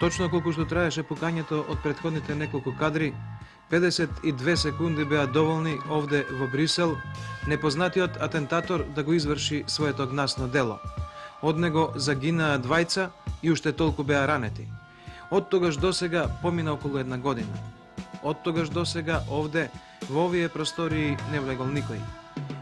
Точно колку што траеше пукањето од претходните неколку кадри, 52 секунди беа доволни овде во Брисел непознатиот атентатор да го изврши своето гнасно дело. Од него загинаа двајца и уште толку беа ранети. Од тогаш досега помина околу една година. Од тогаш досега овде, во овие простории, не влегол никој.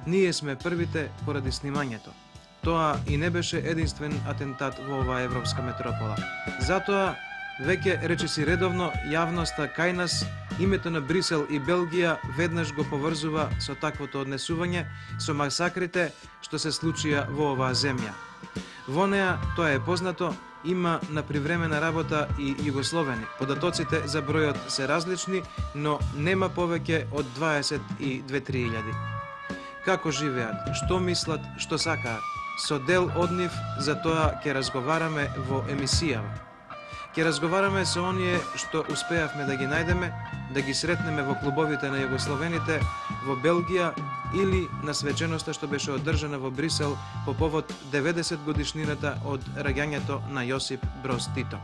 Ние сме првите поради снимањето. Тоа и не беше единствен атентат во оваа европска метропола. Затоа, веќе речиси редовно, јавноста кај нас, името на Брисел и Белгија веднаш го поврзува со таквото однесување, со масакрите што се случија во оваа земја. Во неа, тоа е познато, има на привремена работа и југословени. Податоците за бројот се различни, но нема повеќе од 22-3 Како живеат, што мислат, што сакаат? Со дел од нив, за тоа ќе разговараме во емисијава. Ќе разговараме со оние што успеавме да ги најдеме, да ги сретнеме во клубовите на југословените, во Белгија или на свеченоста што беше одржана во Брисел по повод 90 годишнината од раѓањето на Јосип Броз Тито.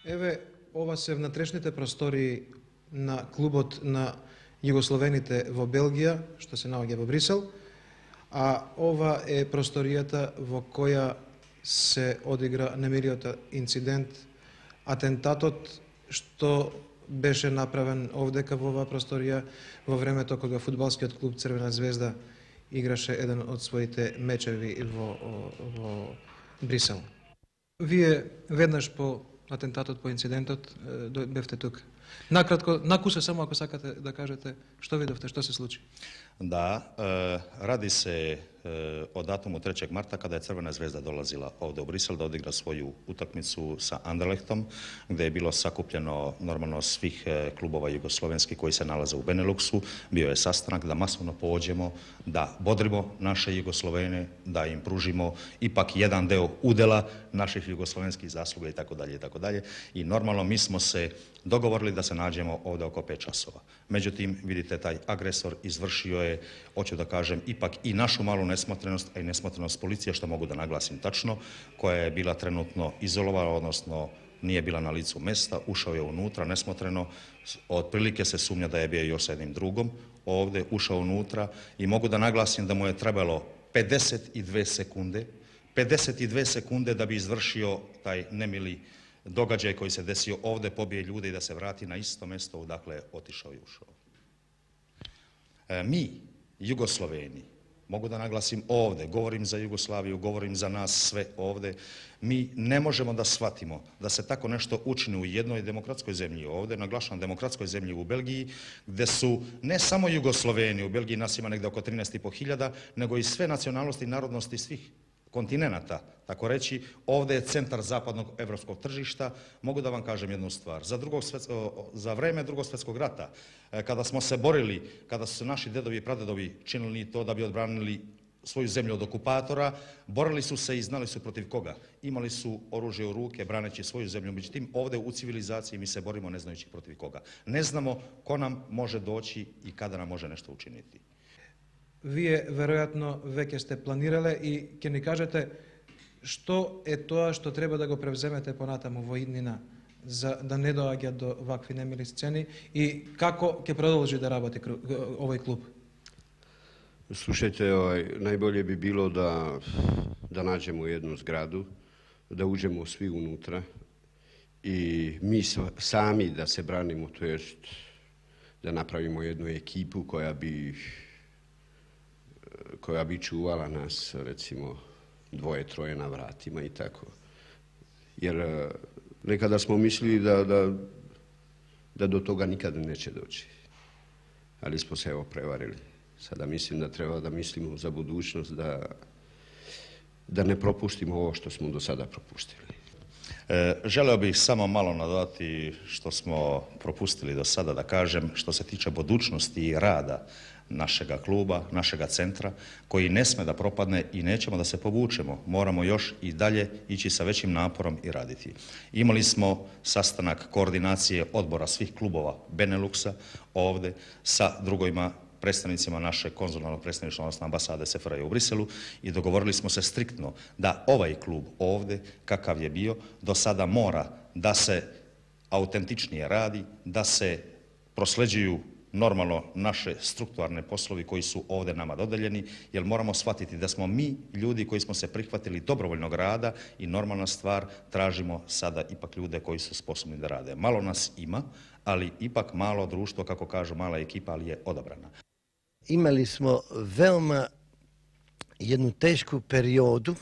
Еве, ова се внатрешните простории на клубот на југословените во Белгија, што се наоѓа во Брисел, а ова е просторијата во која се одигра немилиот инцидент, атентатот што беше направен овдека во оваа просторија во времето кога фудбалскиот клуб Црвена звезда играше еден од своите мечеви во Брисел. Вие веднаш по атентатот, по инцидентот, бевте тука. Накратко, накуса само ако сакате да кажете што видовте, што се случи. Да, ради се од датуму 3. марта када е Црвена звезда долазила овде у Брисел да одигра своју утакмицу sa Anderlechtom, где е било сакупljeno нормално свих клубова југословенски кои се налазе у Бенелуксу. Био е sastanak да масовно поđemo, да бодримо наше југословене, да им пружимо ипак jedan deo udela naših југословенских заслуга и тако даље и тако даље. И нормално ми смо се договорили да се наđemo овде око 5 časova. Međutim, vidite, taj agresor izvršio je, hoću da kažem, ipak i našu malu nesmotrenost, a i nesmotrenost policije, što mogu da naglasim tačno, koja je bila trenutno izolovana, odnosno nije bila na licu mesta, ušao je unutra nesmotreno, otprilike se sumnja da je bio još sa jednim drugom, ovde ušao unutra i mogu da naglasim da mu je trebalo 52 sekunde da bi izvršio taj nemili događaj koji se desio ovde, pobije ljude i da se vrati na isto mesto odakle je otišao i ušao. Mi, Jugosloveni, mogu da naglasim ovde, govorim za Jugoslaviju, govorim za nas sve ovde, mi ne možemo da shvatimo da se tako nešto učini u jednoj demokratskoj zemlji ovde, naglašavam demokratskoj zemlji u Belgiji, gde su ne samo Jugosloveni, u Belgiji nas ima negde oko 13.500, nego i sve nacionalnosti i narodnosti svih kontinenata, tako reći, ovde je centar zapadnog evropskog tržišta. Mogu da vam kažem jednu stvar. Za vreme Drugog svjetskog rata, kada smo se borili, kada su se naši dedovi i pradedovi činili to da bi odbranili svoju zemlju od okupatora, borili su se i znali su protiv koga. Imali su oružje u ruke, braneći svoju zemlju. Međutim, ovde u civilizaciji mi se borimo ne znajući protiv koga. Ne znamo ko nam može doći i kada nam može nešto učiniti. Вие веројатно веќе сте планирале и ќе ни кажете што е тоа што треба да го превземете понатаму во иднина за да не доаѓа до вакви немили сцени и како ќе продолжи да работи овој клуб? Слушајте, најболje би било да наđemo jednu zgradu, da uđemo svi unutra i mi sami da se branimo, to jest da napravimo jednu ekipu koja bi čuvala nas, recimo, 2-3 na vratima i tako. Jer nekada smo mislili da do toga nikada neće doći. Ali smo se evo prevarili. Sada mislim da treba da mislimo za budućnost, da ne propustimo ovo što smo do sada propustili. Želeo bih samo malo nadodati što smo propustili do sada, da kažem, što se tiče budućnosti i rada našega kluba, našega centra, koji ne sme da propadne i nećemo da se povučemo. Moramo još i dalje ići sa većim naporom i raditi. Imali smo sastanak koordinacije odbora svih klubova Beneluksa ovde sa drugovima predstavnicima naše konzularnog predstavništva, odnosno ambasade SFRJ u Briselu i dogovorili smo se striktno da ovaj klub ovde, kakav je bio, do sada mora da se autentičnije radi, da se prosleđuju normalno naše strukturalne poslovi koji su ovde nama dodeljeni, jer moramo shvatiti da smo mi ljudi koji smo se prihvatili dobrovoljnog rada i normalna stvar, tražimo sada ipak ljude koji su sposobni da rade. Malo nas ima, ali ipak malo društvo, kako kažu, mala ekipa, ali je odabrana. Imali smo veoma jednu tešku periodu,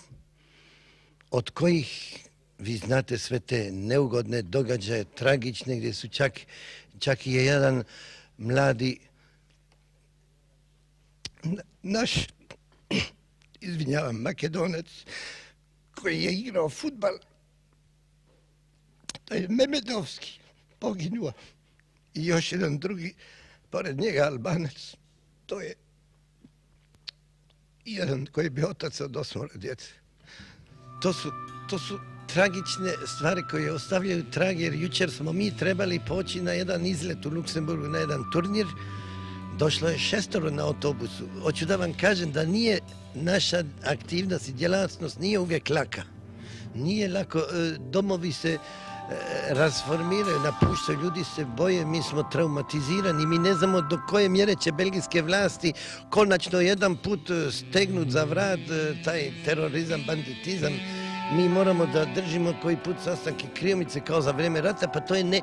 od kojih, vi znate sve te neugodne događaje, tragične, gdje su čak i jedan mladi naš, izvinjavam, Makedonac, koji je igrao fudbal, to je Memedovski, poginuo. I još jedan drugi, pored njega Albanac, to je jedan koji bi otac od 8 djece. To su tragične stvari koje ostavljaju trag, jer jučer smo mi trebali poći na jedan izlet u Luksemburgu, na jedan turnir. Došlo je 6 na autobusu. Hoću da vam kažem da nije naša aktivnost i djelatnost nije uvijek laka. Nije lako, domovi se rasformiraju, napuštaju, ljudi se boje, mi smo traumatizirani, mi ne znamo do koje mjere će belgijske vlasti konačno jedan put stegnut za vrat taj terorizam, banditizam. Mi moramo da držimo koji put sastanke kriomice kao za vrijeme rata, pa to je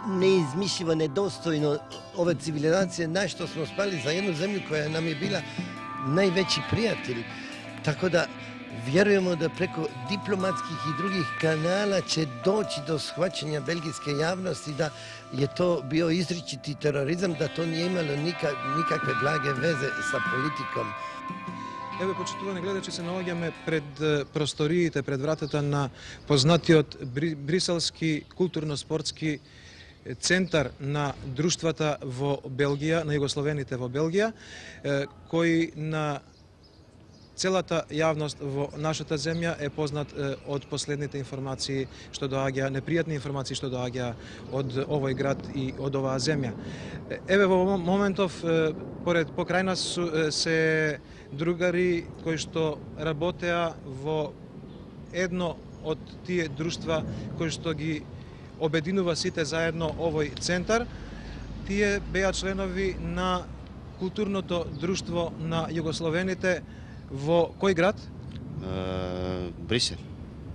neizmišljivo, nedostojno ove civilizacije, na što smo spali za jednu zemlju koja nam je bila najveći prijatelj. Tako da vjerujemo da preko diplomatskih i drugih kanala će doći do shvaćanja belgijske javnosti da je to bio izričiti terorizam, da to nije imalo nikakve blage veze sa politikom. Еве, почитувани гледачи, се наоѓаме пред просториите, пред вратата на познатиот бриселски културно-спортски центар на друштвата во Белгија, на југословените во Белгија, кој на целата јавност во нашата земја е познат од последните информации што доаѓа, непријатни информации што доаѓа од овој град и од оваа земја. Еве, во моментов покрај нас се другари кои што работеа во едно од тие друштва кои што ги обединува сите заедно овој центар. Тие беа членови на културното друштво на југословените во кој град? Брисел.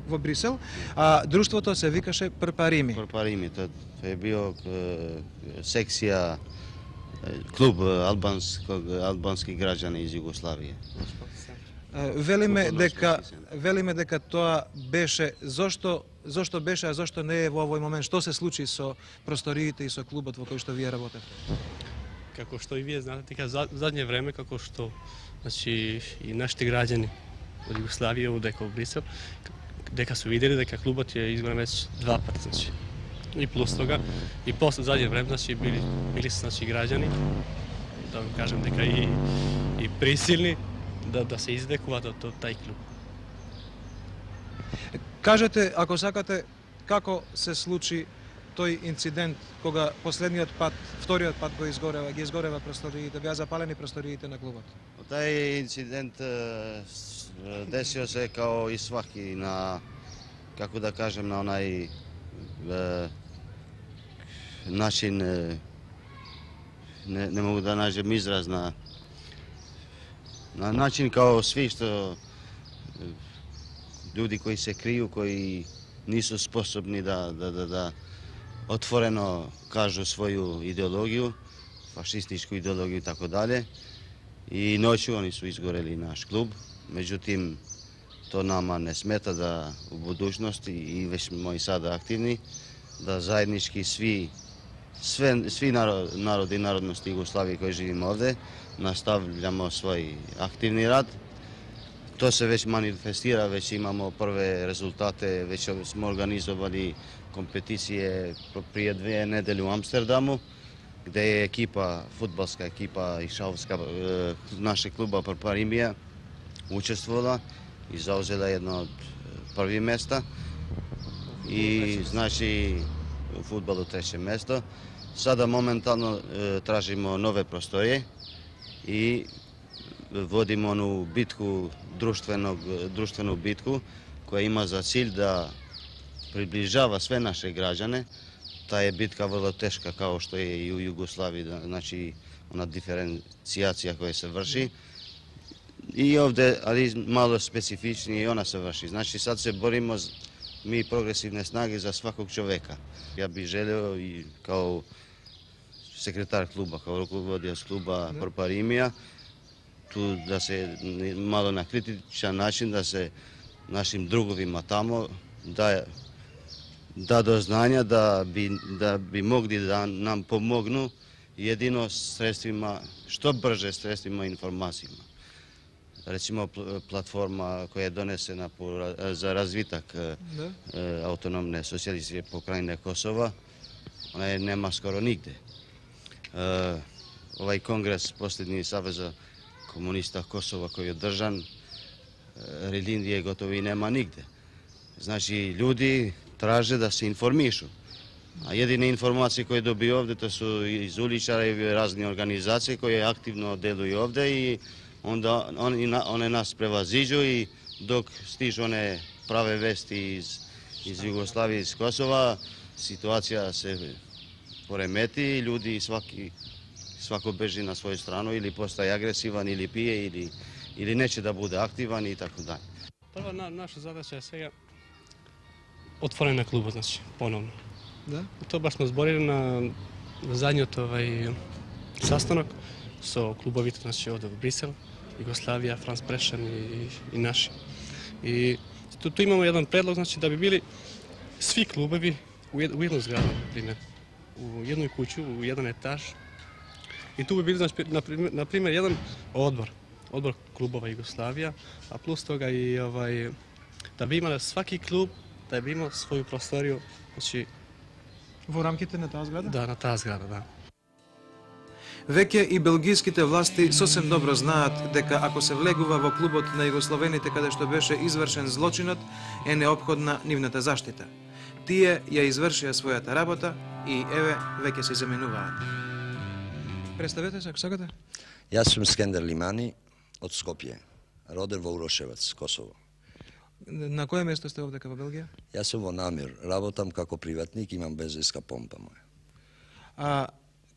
Во Брисел. А друштвото се викаше Прпарими. Прпарими, тоа е био секција клуб албански граѓани из Југославија. Велиме дека тоа беше зошто беше, а зошто не е во овој момент? Што се случи со просториите и со клубот во кој што вие работите? Како што и вие знаете, дека задње време како што значи и нашите граѓани од Југославија дека во Брисел дека се видели дека клубот е изгорен веќе 2 пати, значи и плюс тога и после задње време значи били се значи граѓани да вам кажам дека и присилни да се издекуваат од тај клуб. Кажете, ако сакате, како се случи тој инцидент кога последниот пат, вториот пат ги изгорева просториите, беа запалени просториите на клубот? Тај инцидент десио се као и сваки на, како да кажем, на онај начин, не могу да најдем израз на начин као сви што луѓе кои се крију, кои нису способни да отворено кажу своју идеологија, фашистичку идеологија и така дале. И ноќу они су изгорели наш клуб, меѓутим то нама не смета да у будуćност и веќе сме и сада активни да заеднички сви народи и народности Југославија кои живиме овде настављамо свој активни рад. То се веќе манифестира, веќе имамо прве резултате, веќе сме организовали компетиције прije 2 недели у Амстердаму, где е екипа, фудбалска екипа и шаловска наше клуба Прпаримија учествувала и заузела едно од први места и значи у фудбалу 3 место. Сада моментално тражимо нове простории и водиме ону битку, друштвену битку, која има за cilj да приближава све наши граѓане. Таа е битка vrlo тешка, као што е и у Југославија, значи она диференцијација која се врши. И овде, али мало специфични, и она се врши. Значи сад се бориме ми прогресивни снаги за сваког човека. Ја би желео и као секретар клуба, као руководиоц клуба Пропаримија, ту да се мало на критичен начин да се нашим друговима тамо да до знања да би могли да нам помогну едино средствима, што брже средствима информацијама. Речимо платформа која е донесена за развиток автономне социјалистичке покрајне Косова, она нема скоро нигде. Овај конгрес последни Савеза комуниста Косова кој е одржан, релиндија готово и нема нигде. Значи луѓе тражи да се информишу. А едини информации кои доби овде тоа су из уличари и разни организации кои активно делују овде и онда они нас превазиđу и док стижу one праве вести из Југославија, из Косова, ситуација се поремети и луѓе свако бежи на своја страна или постаje агресиван или пие или нече да буде активан и така даје. Прва наша задача е сега отворење на клубот, значи, поновно. Да? Тоа баш сме зборили на задниот sastanak со клубовите, значи, овде во Брисел, Југославија, Франц Прешен и наши. И ту имаме еден предлог, значи, да би били сви клубови у една зграда, например, у едној куќу, у еден етаж. И ту би били, значи, например, еден одбор клубова Југославија, а плюс тога и да би имале сваки клуб, да би имал своју просторија, значи, Во рамките на таа зграда? да, на таа зграда, да. Веќе и белгиските власти сосем добро знаат дека ако се влегува во клубот на југословените каде што беше извршен злочинот, е неопходна нивната заштита. Тие ја извршија својата работа и еве веќе се заменуваат. Представете се ако сакате. Јас сум Скендер Лимани од Скопје, роден во Урошевац, Косово. На кое место сте овдека во Белгија? Јас сум во Намир, работам како приватник, имам бензинска помпа моја. А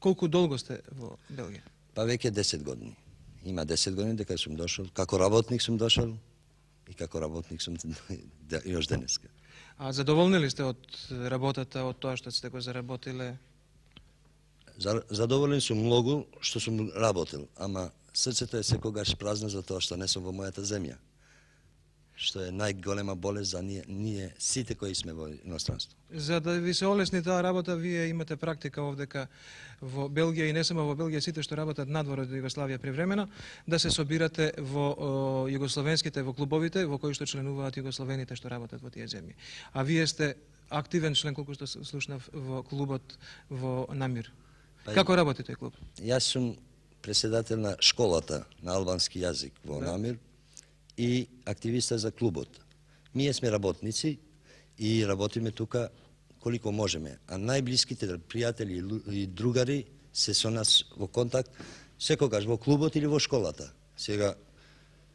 колку долго сте во Белгија? Па веќе 10 години. Има 10 години дека сум дошол, како работник сум дошол и како работник сум још денеска. А задоволни ли сте од работата, од тоа што сте го заработиле? Задоволен сум многу што сум работил, ама срцето е секогаш празно за тоа што не сум во мојата земја. Што е најголема болест за ние сите кои сме во иностранство. За да ви се олесни таа работа, вие имате практика овдека во Белгија и не само во Белгија, сите што работат надвор од Југославија привремено, да се собирате во југословенските, во клубовите во кои што членуваат југословените што работат во тие земји. А вие сте активен член, колку што слушнав, во клубот во Намир. Како работи тој клуб? Јас сум председател на школата на албански јазик во Намир и активиста за клубот. Ние сме работници и работиме тука колико можеме, а најблиските пријатели и другари се со нас во контакт секогаш во клубот или во школата. Сега,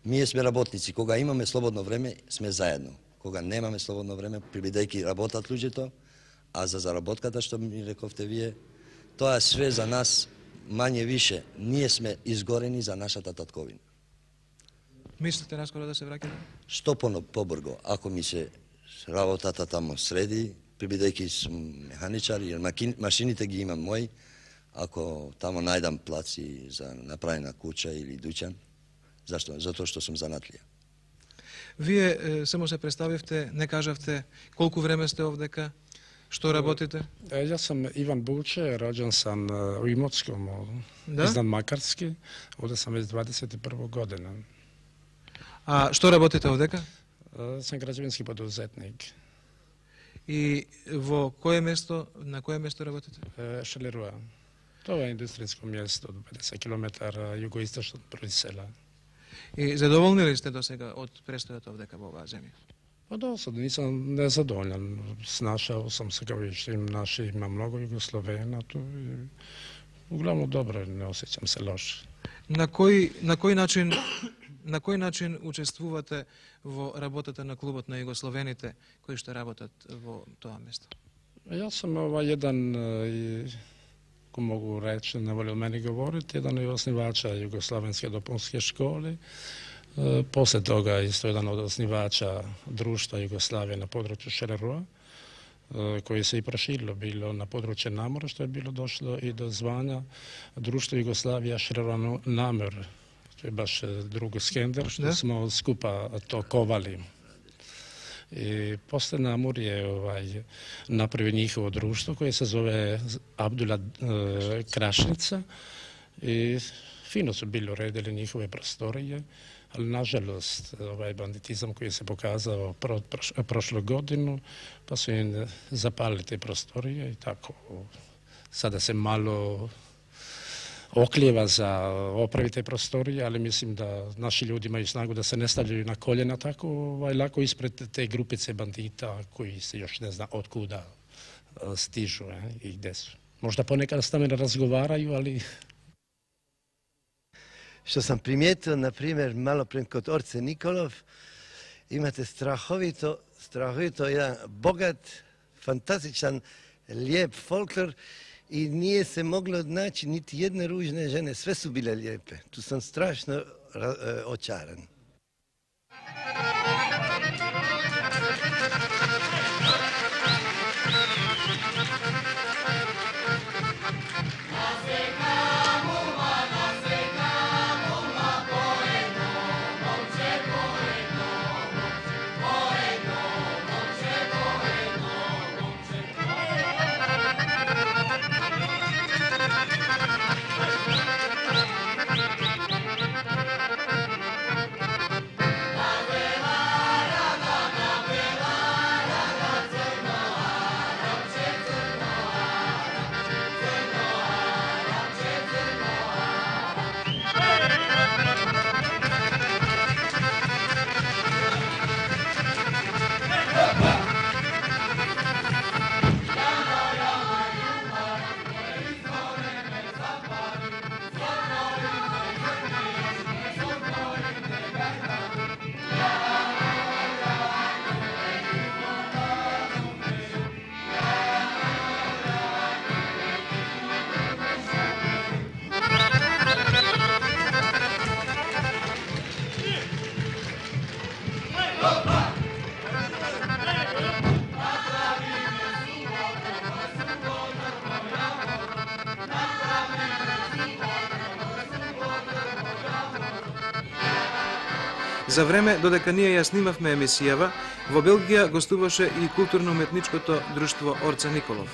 ние сме работници, кога имаме слободно време, сме заедно. Кога немаме слободно време, бидејќи работат луѓето, а за заработката што ми рековте вие, тоа е све за нас мање више. Ние сме изгорени за нашата татковина. Мислите наскоро да се враќате? Што побрго, ако ми се работата тамо среди, бидејќи сум механичар и машините ги имам мои, ако тамо најдам плаци за направена куќа или дуќан, зашто? Затоа што сум занатлија. Вие само се представивте, не кажавте колку време сте овдека, што работите? Јас сум Иван Булче, роđен сам у Имоцком, изнад Макарски, овде сам веќе 21 година. А што работите овдека? Сум граѓевински подузетник. И во кое место, на кое место работите? Шелеруа. Тоа е индустријско место, 50 км југоисточно од Брисела. И задоволни ли сте до сега од престојот овдека во оваа земја? Па да, сад нисам незадоволен. Снашao сам се како више, има многу Југословена, углавно добро, не осеќам се лошо. На кој начин учествувате во работата на клубот на југословените кои што работат во тоа место? Јас сум еден, ко могу рече, не воли мене говорите, еден од основача југословенски допунски школи. После тога исто еден од основача друштва Југославија на подручју ШРРО, кој се и проширило било на подручје Намор, што е било дошло и до звања друштво Југославија ШРРО Намор. Тоа е баш друг скендер, што смо скупа токовали. И после Намор е направи нjihovo друштво кое се зове Абдула Крашница и фино су били уредили нjihove просторije, ali nažalost бандитизам кој се показao прошлу годину, па су им запалили те просторije и тако сада се мало окљева за оправи те просторije, ali мислим да наши луѓе имају снагу да се не стављају на колена тако лако испред те групице бандита кои се још не зна од куда стижу и где су. Можда понекад с нами разговарају, али Što sam primijetio, na primjer, malo prije kod Orce Nikolov, imate strahovito jedan bogat, fantastičan, lijep folklor i nije se moglo naći niti jedne ružne žene, sve su bile lijepe. Tu sam strašno očaran. За време додека ние ја снимавме емисијава, во Белгија гостуваше и културно-уметничкото друштво Орце Николов.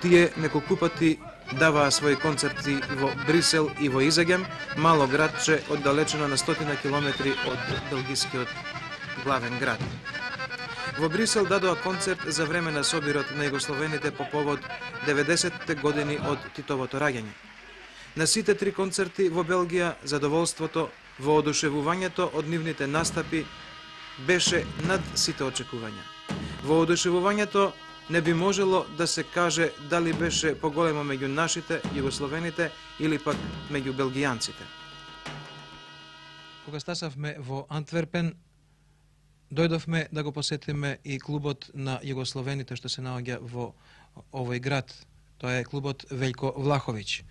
Тие неколку пати даваа своји концерти во Брисел и во Изегем, мало градче оддалечено на 100 километри од белгискиот главен град. Во Брисел дадоа концерт за време на собирот на југословените по повод 90-те години од Титовото раѓање. На сите три концерти во Белгија задоволството во одушевувањето од нивните настапи беше над сите очекувања. Во одушевувањето не би можело да се каже дали беше поголемо меѓу нашите, југословените или пак меѓу белгијанците. Кога стасавме во Антверпен, дојдовме да го посетиме и клубот на југословените што се наоѓа во овој град. Тоа е клубот Велјко Влаховиќ.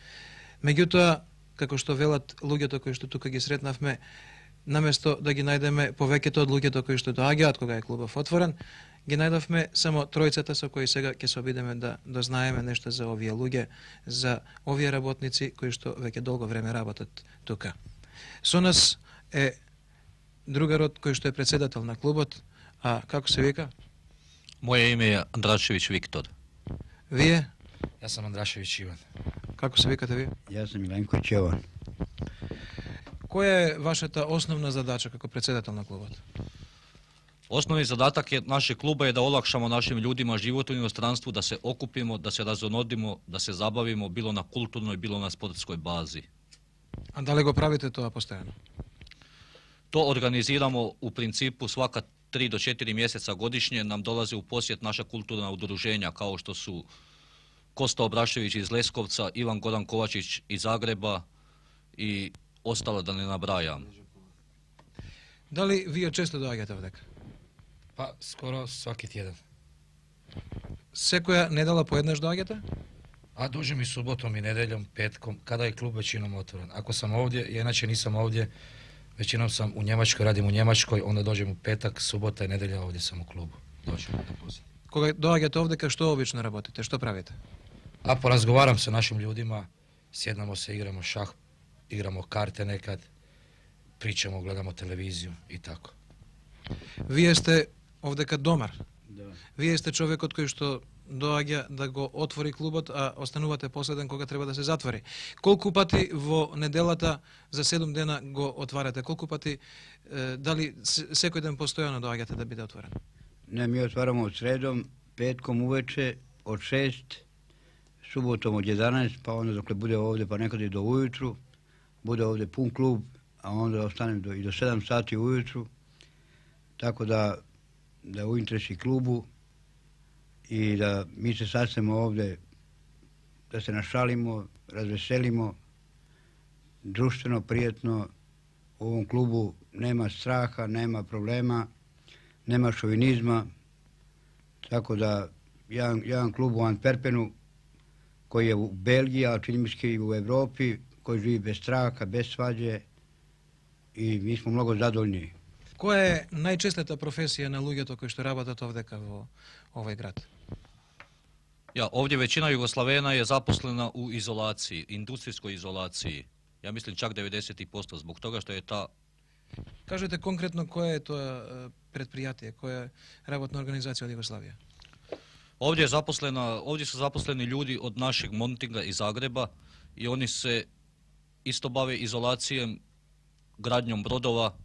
Меѓутоа, како што велат луѓето кои што тука ги сретнавме, наместо да ги најдеме повеќето од луѓето кои што доаѓаат кога е клубов отворен, ги најдовме само тројцата со кои сега ќе се обидеме да дознаеме нешто за овие луѓе, за овие работници кои што веќе долго време работат тука. Со нас е другарот кој што е председател на клубот, а како се вика? Моје име е Андрашевиќ Виктор. Вие? Јас сум Андрашевиќ Иван. Како се викате вие? Јас сум Миленко Ќован. Која е вашата основна задача како председател на клубот? Основни задатак е нашeg клуба е да олакшамо нашим људима животот во иностранству, да се окупимо, да се разонодимо, да се забавимо било на културној, било на спортској бази. А дали го правите тоа постојано? То организирамо у принципу свака 3 до 4 месеца годишње нам долази у посет наша културна удружења као што су Коста Обрашевиќ из Лесковца, Иван Горан Ковачиć из Загреба и ostalo da ne nabrajam. Da li вие често доаѓате овдека? Pa skoro svaki tjedan. Секоја недела поеднаш доаѓате? A dođem i subotom i nedeljom, petkom, kada je klub većinom otvoren. Ako sam ovdje, ja inače nisam ovdje, većinom sam u Njemačkoj, radim u Njemačkoj, onda dođem u petak, subota i nedelja, ovdje sam u klubu. Dođem da posjetim. Кога доаѓате овдека, што обично работите? Што правите? A porazgovaram sa našim ljudima, sjednemo se, igramo šah, igramo karte nekad, pričamo, gledamo televiziju i tako. Вие сте овдека домар. Da. Вие сте човекот кој што доаѓа да го отвори клубот, а останувате последен кога треба да се затвори. Колку пати во неделата за 7 дена го отварате? Колку пати, дали секој ден постојано доаѓате да биде отворен? Ne, mi otvaramo od sredom, petkom uveče od 6, subotom od 11, pa onda dokle bude ovdje, pa nekad i do ujutru, bude ovdje pun klub, a onda ostanem i do 7 sati ujutru, tako da u interesi klubu i da mi se sastajemo ovdje, da se našalimo, razveselimo, društveno, prijetno, u ovom klubu nema straha, nema problema, nema šovinizma, tako da jedan klub u Antwerpenu koji je u Belgiji, a čini mi se i u Evropi, koji živi bez straha, bez svađe i mi smo mnogo zadovoljni. Која е најчестата професија на луѓето кои што работат овдека во овој град? Ja, ovdje većina Jugoslavena je zaposlena u izolaciji, industrijskoj izolaciji. Ja mislim čak 90%, zbog toga što je ta... Кажете конкретно која е тоа предпријатие, која е работна организација од Југославија? Ovdje su zaposleni ljudi od našeg Montinga iz Zagreba i oni se isto bave izolacijem, gradnjom brodova,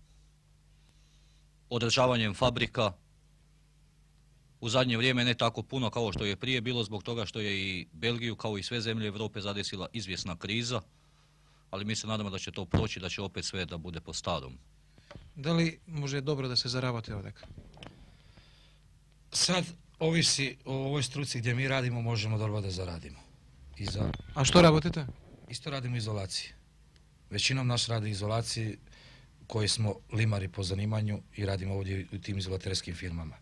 održavanjem fabrika. U zadnje vrijeme ne tako puno kao što je prije bilo, zbog toga što je i Belgiju kao i sve zemlje Europe zadesila izvjesna kriza, ali mi se nadamo da će to proći, da će opet sve da bude po starom. Da li može dobro da se zaravate ovdeka? Sad ovisi o ovoj struci gdje mi radimo, možemo dobro da zaradimo. A što работите? Isto radimo u izolaciji. Većinom naš radi u izolaciji, koji smo limari po zanimanju i radimo ovdje u tim izolaterskim firmama.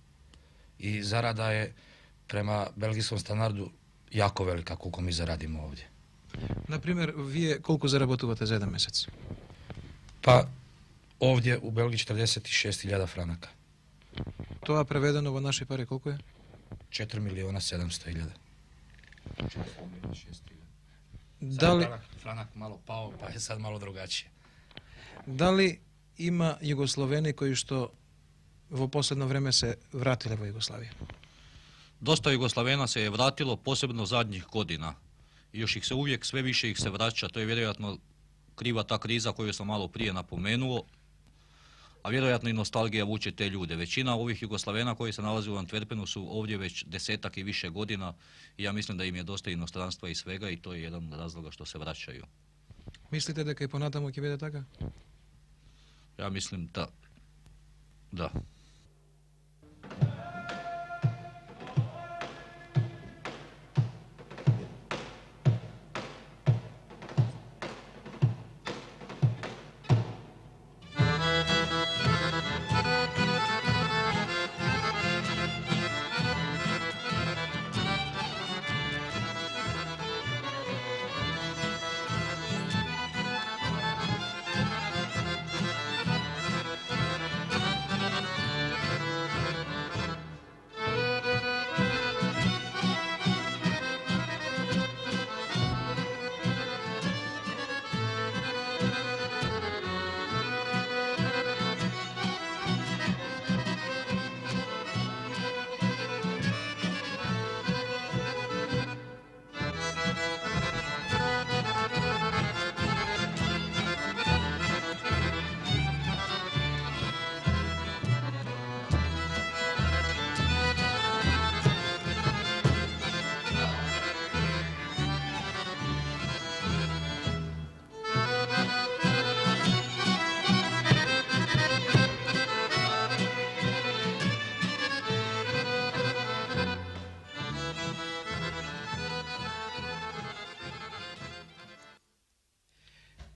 I zarada je prema belgijskom standardu jako velika koliko mi zaradimo ovdje. Например, вие колку заработувате за еден месец? Pa ovdje u Belgiji 46.000 franaka. Тоа преведено во наши пари колку е? 4.700.000. Дали Franak malo pao, pa je sad malo drugačije. Дали има југословени кои што во последно време се вратиле во Југославија? Dosta Jugoslavena se je vratilo, posebno zadnjih godina. I još ih se uvijek, sve više ih se vraća, to je vjerojatno kriva ta kriza koju sam malo prije napomenuo, a vjerojatno i nostalgija vuče te ljude. Većina ovih Jugoslavena koji se nalaze u Antwerpenu su ovdje već 10-ak i više godina i ja mislim da im je dosta inostranstva i svega i to je jedan od razloga što se vraćaju. Мислите дека и понатаму ќе биде така? Ja mislim da.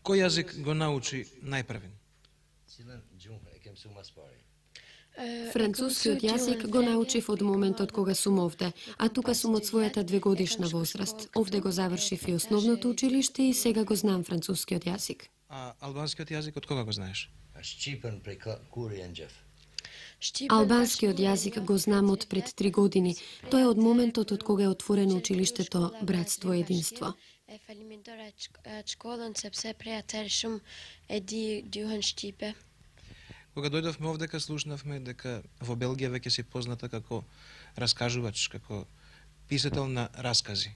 Кој јазик го научи најпрвен? Францускиот јазик го научив од моментот кога сум овде, а тука сум од својата 2-годишна возраст. Овде го завршив и основното училиште и сега го знам францускиот јазик. А албанскиот јазик од кога го знаеш? Албанскиот јазик го знам од пред 3 години. Тоа е од моментот од кога е отворено училиштето Братство и единство. Кога дојдовме овдека, слушнавме дека во Белгија веќе си позната како раскажувач, како писател на раскази.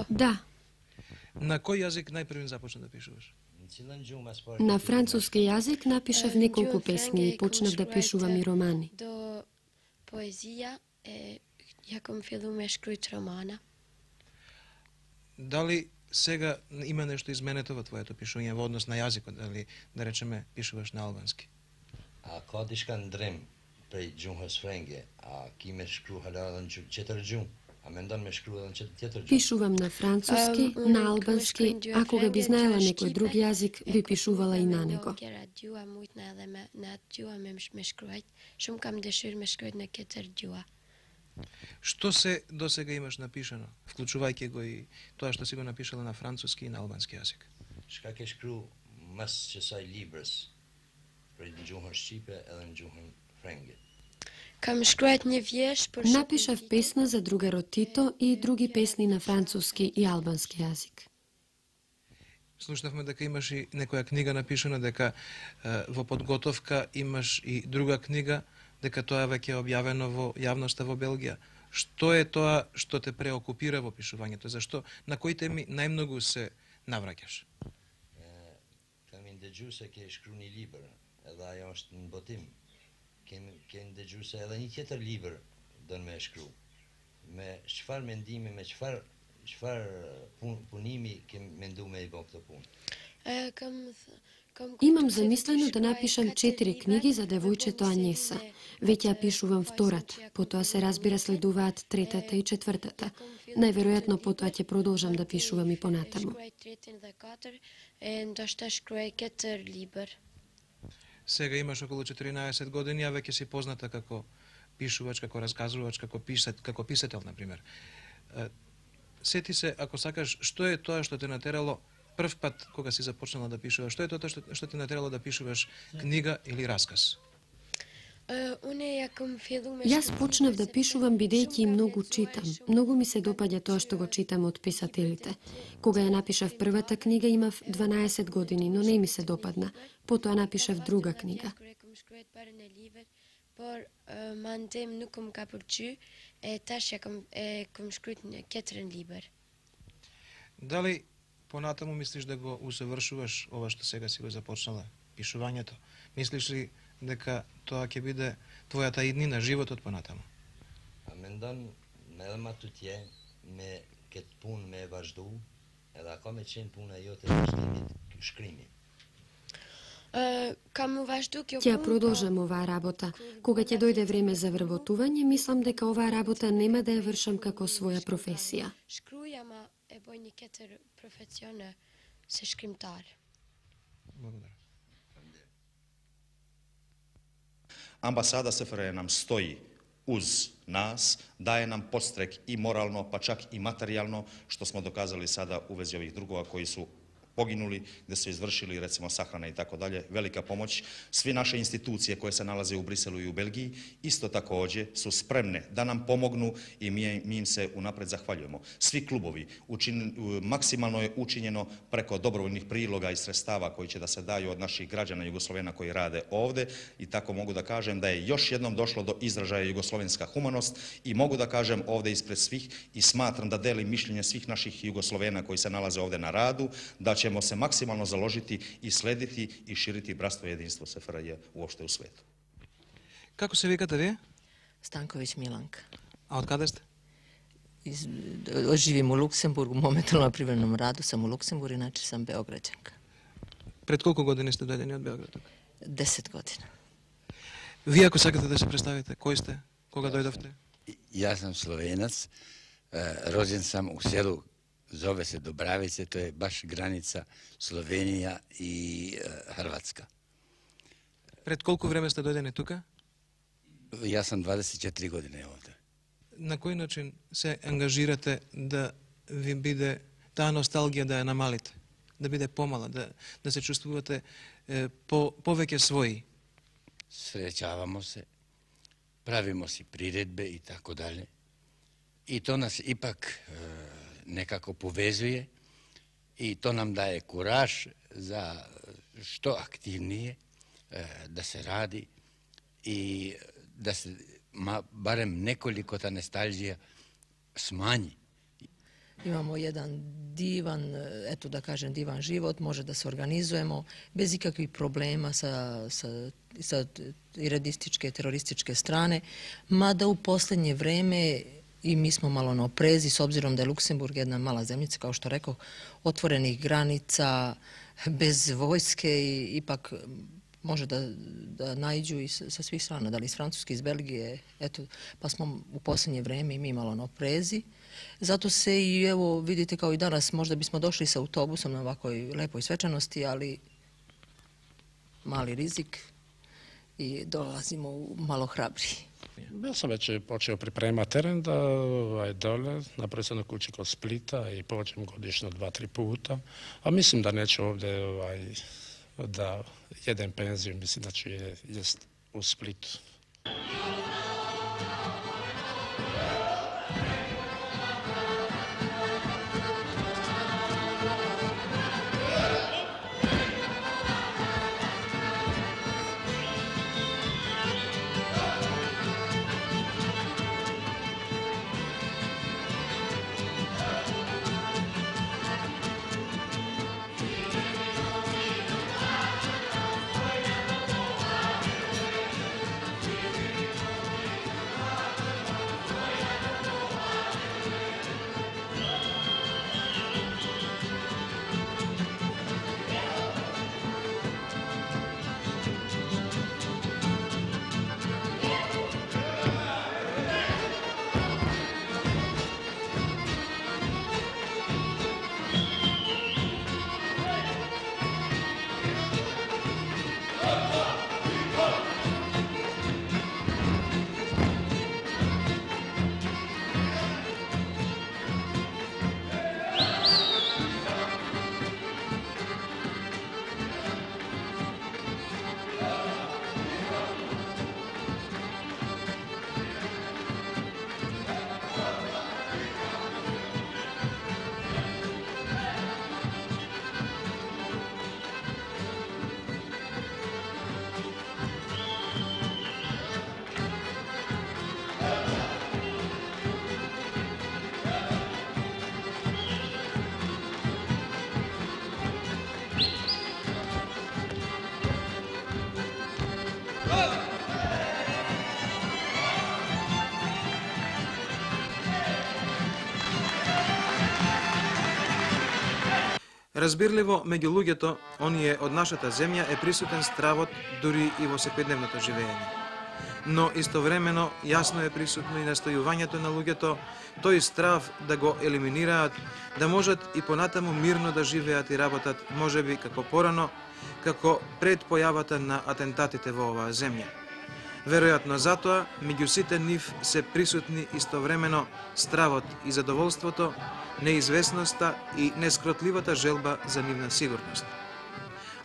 Да. На кој јазик најпрвен започна да пишуваш? На француски јазик напишав неколку песни и почнав да пишувам и романи. До поезија ја ком филуме шкрујт романа. Дали сега има нешто изменето во твоето пишување во однос на јазикот, дали да речеме пишуваш на албански? A ka diçka ndrim prej gjuhës frenge, a ki me shkru hala edhe në qëtër gjuhë, a mendon me shkru edhe në tjetër gjuhë? Пишувам на француски, на албански, а кога би знаела некој друг јазик, би пишувала и на него. Gjua mujtna edhe në atë gjua me shkruajt, shumë kam dëshirë me shkruajt në ketër gjua. Што се до сега имаш напишано, вклучувајќи го и тоа што си го напишала на француски и на албански јазик? Shka ke shkru mas qësaj librës, prej në gjuhën shqipe edhe në gjuhën frenge? Kam shkruajt një vjesh për Напишав песна за другарот Тито и други песни на француски и албански јазик. Слушнавме дека имаш и некоја книга напишана, дека во подготовка имаш и друга книга, дека тоа веќе е објавено во јавноста во Белгија. Што е тоа што те преокупира во пишувањето? Зашто на кои теми најмногу се навраќаш? Kam ndëgju se ke shkru një libër, edhe ajo është në botim. Ke ndëgju se edhe një tjetër libër don me shkru. Me çfarë mendimi, me çfarë punimi ke mendu me i bë këtë punë? Имам замислено да напишам 4 книги за девојчето Анјеса. Веќе ја пишувам втората, потоа се разбира следуваат третата и четвртата. Најверојатно потоа ќе продолжам да пишувам и понатаму. Сега имаш околу 14 години, а веќе си позната како пишувач, како расказувач, како писател, например. Сети се, ако сакаш, што е тоа што те натерало прв пат кога си започнала да пишуваш? Што е тоа што те натерало да пишуваш книга или расказ? Јас почнав да пишувам бидејќи многу читам. Многу ми се допаѓа тоа што го читам од писателите. Кога ја напишав првата книга имав 12 години, но не ми се допадна. Потоа напишав друга книга. Por mandem nuk më ka pëlqy, tash kam shkruajt një ketërën libër. Дали понатаму мислиш да го усовршуваш ова што сега си го започнала, пишувањето? Мислиш ли дека тоа ќе биде твојата иднина, животот понатаму? A mendon me edhe ma tutje me këtë punë me vazhdu, edhe ka me qenë puna jote e shkrimi? Ќе продолжам оваа работа. Кога ќе дојде време за вработување, мислам дека оваа работа нема да ја вршам како своја професија. Shkruajma e bëj një tjetër profesion se shkrimtar. Благодарам. Амбасада СФР нам стои уз нас, daje nam podstrek i moralno, pa čak i materijalno, što smo dokazali sada u vezi ovih drugova koji su poginuli, gde su izvršili recimo sahrane i tako dalje, velika pomoć. Svi naše institucije koje se nalaze u Briselu i u Belgiji isto takođe su spremne da nam pomognu i mi im se unapred zahvaljujemo. Svi klubovi, maksimalno je učinjeno preko dobrovoljnih priloga i sredstava koji će da se daju od naših građana Jugoslovena koji rade ovde i tako mogu da kažem da je još jednom došlo do izražaja jugoslovenska humanost i mogu da kažem ovde ispred svih i smatram da delim mišljenje svih naših Jugoslovena koji se nalaze ovde na radu, da ćemo se maksimalno založiti i slediti i širiti bratstvo i jedinstvo SFRJ uopšte u svetu. Како се викате вие? Станковиќ Миланка. А од каде сте? Живим у Луксембургу, моментално на привременом раду сам у Луксембург, иначе сам београđанка. Пред колку години сте дојдени од Београд? 10 година. Вие ако сакате да се представите, кој сте? Кога дојдовте? Јас сум Словенац, роđен sam u selu, zove se Dobravice, to je baš granica Slovenija i Hrvatska. Пред колку време сте дојдени тука? Јас сам 24 години овде. На кој начин се ангажирате да ви биде таа носталгија да ја намалите, да биде помала, да се чувствувате повеќе своји? Srećavamo se, pravimo si priredbe i tako dalje. I to nas ipak nekako povezuje i to nam daje kuraž za što aktivnije da se radi i da se barem nekoliko ta nostalgija smanji. Imamo jedan divan, eto da kažem, divan život, može da se organizujemo bez ikakvih problema sa iradističke, terorističke strane, mada u poslednje vreme i mi smo malo na oprezi, s obzirom da je Luksemburg jedna mala zemljica, kao što rekao, otvorenih granica, bez vojske i ipak može da naiđu i sa svih strana, da li iz Francuske, iz Belgije, eto, pa smo u poslednje vreme i mi malo na oprezi. Zato se i evo vidite kao i danas, možda bismo došli sa autobusom na ovakoj lepoj svečanosti, ali mali rizik i dolazimo malo hrabriji. Ja sam već počeo pripremati teren da dole, napravio sam na kući kod Splita i pođem godišnjo 2-3 puta, a mislim da neću ovdje da jedem penziju, mislim da ću jest u Splitu. Разбирливо, меѓу луѓето, оние од нашата земја е присутен стравот дури и во секојдневното живење. Но истовремено јасно е присутно и настојувањето на луѓето тој страв да го елиминираат, да можат и понатаму мирно да живеат и работат, можеби како порано, како пред појавата на атентатите во оваа земја. Веројатно затоа, меѓу сите нив се присутни истовремено стравот и задоволството, неизвестноста и нескротливата желба за нивна сигурност.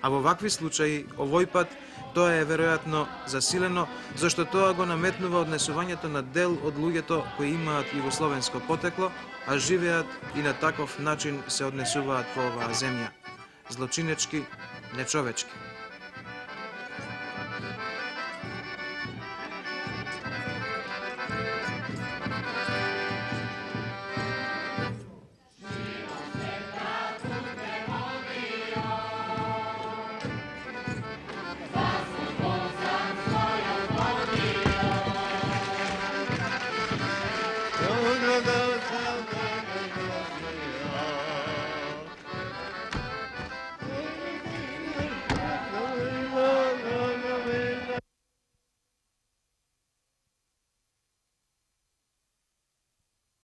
А во вакви случаи, овој пат, тоа е веројатно засилено, зашто тоа го наметнува однесувањето на дел од луѓето кои имаат југословенско потекло, а живеат и на таков начин се однесуваат во оваа земја. Злочинечки, нечовечки.